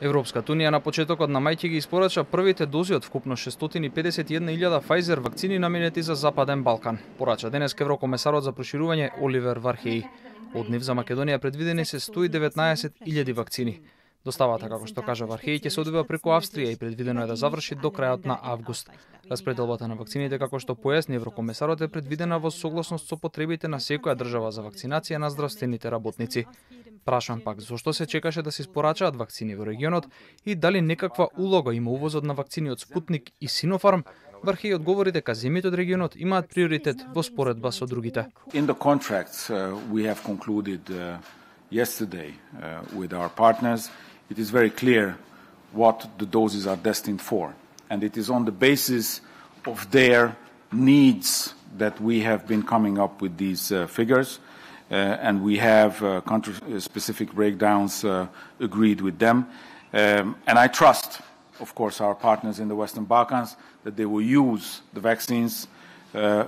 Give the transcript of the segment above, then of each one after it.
Европската унија на почетокот на мај ќе ги испорача првите дози од вкупно 651.000 Pfizer вакцини наменети за Западен Балкан, порача денес еврокомесарот за проширување Оливер Вархеи. Од нив за Македонија предвидени се 119.000 вакцини. Доставата, како што кажа Вархеи, ќе се одвива преку Австрија и предвидено е да заврши до крајот на август. Распределбата на вакцините, како што појасни еврокомесарот, е предвидена во согласност со потребите на секоја држава за вакцинација на здравствените работници. Прашан пак зошто се чекаше да се испорачаат вакцини во регионот и дали некаква улога има увозот на вакцини од Спутник и Синофарм, Вархеи одговори дека земјите од регионот имаат приоритет во споредба со другите. In the contracts we have concluded yesterday with our partners, it is very clear what the doses are destined for, and it is on the basis of their needs that we have been coming up with these figures, and we have country-specific breakdowns agreed with them, and I trust, of course, our partners in the Western Balkans that they will use the vaccines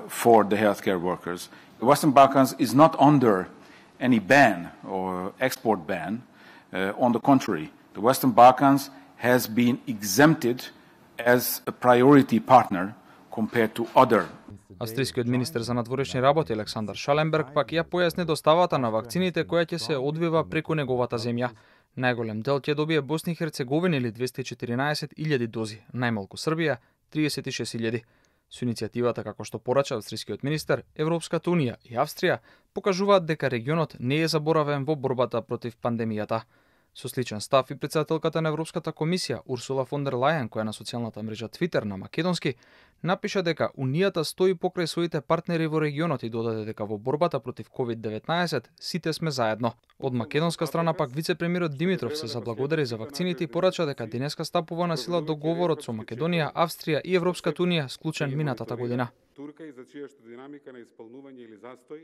for the healthcare workers. The Western Balkans is not under any ban or export ban. On the contrary, the Western Balkans has been exempted as a priority partner compared to other. Австрискиот министер за надворешни работи Александар Шаленберг пак ја појасни доставата на вакцините која ќе се одвива преку неговата земја. Најголем дел ќе добие Босна и Херцеговина или 214.000 дози, најмалку Србија 36.000. Со иницијативата, како што порача австрискиот министер, Европската унија и Австрија покажуваат дека регионот не е заборавен во борбата против пандемијата. Со сличен став и претседателката на Европската комисија Урсула фон дер Лајен, која на социјалната мрежа Твитер на македонски, напиша дека Унијата стои покрај своите партнери во регионот и додаде дека во борбата против COVID-19 сите сме заедно. Од македонска страна пак вице-премиерот Димитров се заблагодари за вакцините и порача дека денеска стапува на сила договорот со Македонија, Австрија и Европската унија склучен минатата година. Турка и за чијашта динамика на исполнување или застој